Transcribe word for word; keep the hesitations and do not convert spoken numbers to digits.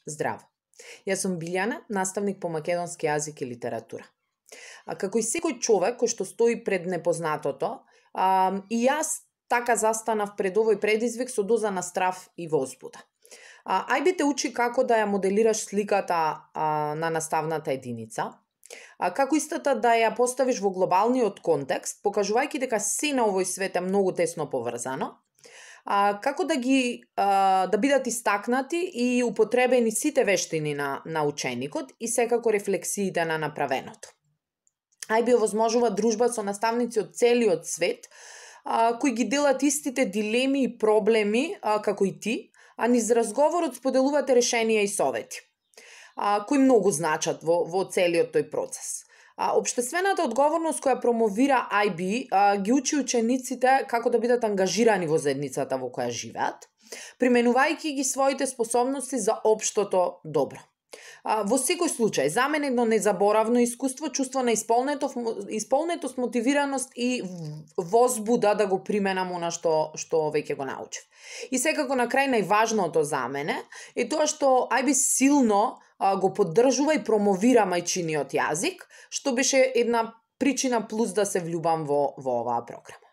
Здраво! Јас сум Билјана, наставник по македонски јазик и литература. А како и секој човек кој што стои пред непознатото, а, и јас така застанав пред овој предизвик со доза на страв и возбуда. А, ајби те учи како да ја моделираш сликата а, на наставната единица, а, како истата да ја поставиш во глобалниот контекст, покажувајќи дека се на овој свет е многу тесно поврзано, а, како да ги а, да бидат истакнати и употребени сите вештини на, на ученикот и секако рефлексиите на направеното. Ајби овозможува дружба со наставници од целиот свет, а, кои ги делат истите дилеми и проблеми а, како и ти, а низ разговорот споделувате решенија и совети, а, кои многу значат во, во целиот тој процес. А, Обштествената одговорност која промовира ај би а, ги учи учениците како да бидат ангажирани во заедницата во која живеат, применувајќи ги своите способности за општото добро. А, во секој случај, за мене едно незаборавно искуство, чувство на исполнетост, исполнетост, мотивираност и возбуда да го применам она што што веќе го научив. И секако на крај најважното за мене е тоа што ај би силно а, го поддржува и промовира мајчиниот јазик, што беше една причина плюс да се влюбам во во оваа програма.